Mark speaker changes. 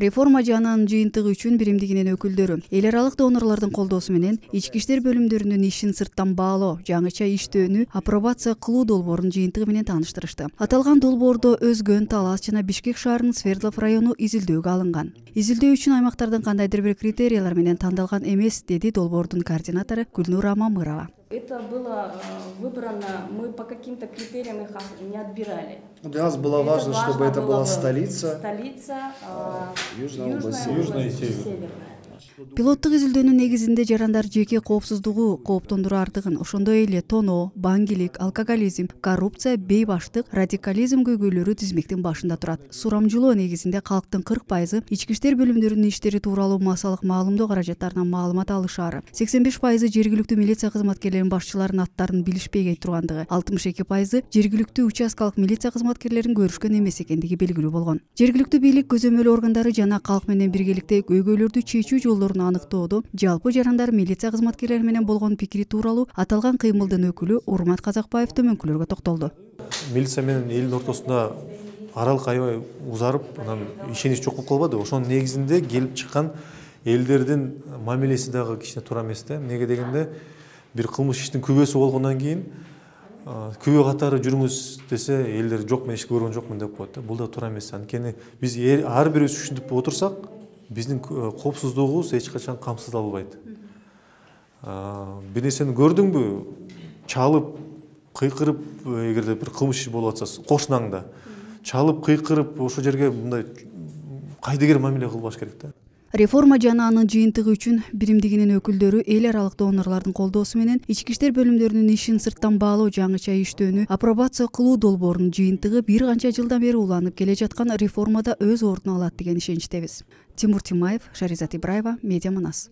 Speaker 1: Реформа жананын жыйынтыгы үчүн биримдигинин өкүлдөрү эл аралык донорлордун колдоосу менен ички иштер бөлүмдөрүнүн ишин сырттан баалоо, жаңыча иштөөнү апробация кылуу долбоорунун жыйынтыгы менен тааныштырышты. Аталган долбоордо Өзгөн, Талас жана Бишкек шаарынын Свердлов району изилдөөгө алынган. Изилдөө үчүн аймактардын кандайдыр бир критериялар менен тандалган эмес, деди долбоордун координатору Гүлнура Мамырова.
Speaker 2: Это было выбрано, мы по каким-то критериям их не отбирали.
Speaker 3: Для нас было важно, чтобы это была столица.
Speaker 2: Южная и Северная.
Speaker 1: Пилоттук изилдөөнүн негизинде жарандар жеке коопсуздугу кооптондураардыгын, ошондой эле тоноо, баңгилик, алкоголизм, коррупция, бейбаштык, радикализм көйгөйлөрү тизмектин башында турат. Сурамжылоо негизинде калктын 40% ички иштер бөлүмдөрүнүн иштери тууралуу массалык маалымдоо каражаттарынан маалымат алышаары, 85% жергиликтүү милиция кызматкерлеринин башчыларынын аттарын билишпей тургандыгы, 62% жергиликтүү участкалык милиция кызматкерлерин көрүшкөн эмес экендиги белгилүү болгон. Жергиликтүү бийлик, көзөмөл органдары жана калк менен биргеликте көйгөйлөрдү чечүү жолдорун аныктоодо жалпы жарандар милиция кызматкерлери менен болгон пикири тууралуу аталган кыймылдын өкүлү Урмат Казакбаев төмөнкүлөргө токтолду.
Speaker 4: Милиция менен элдин ортосунда аралык аябай узарып, анан ишенич жок болуп калбады. Ошонун негизинде келип чыккан элдердин мамилеси дагы кичине туура эмес да. Эмнеге дегенде, бир кылмыш иштин күбөсү болгондон кийин күбө катары жүрүңүз десе, элдер жок, мен ишти көргөн жокмун деп коет да. Бул да туура эмес. Анткени биз ар бирибиз ушинтип отурсак, биздин коопсуздугубуз эч качан камсыздалбайт. Бир нерсени көрдүңбү, чалып, кыйкырып, эгерде бир кылмыш иш болуп атса, кошунаңда чалып, кыйкырып, ошол жерге мындай кайдыгер мамиле кылбаш керек да.
Speaker 1: Реформа жананын жыйынтыгы үчүн биримдигинин өкүлдөрү эл аралык донорлордун колдоосу менен ички иштер бөлүмдөрүнүн ишин сырттан баалоо, жаңыча иштөөнү апробация кылуу долбоорунун жыйынтыгы бир канча жылдан бери уланып келе жаткан реформада өз ордун алат деген ишеничтебиз. Тимур Тимаев, Шаризат Ибраева, Медиа Манас.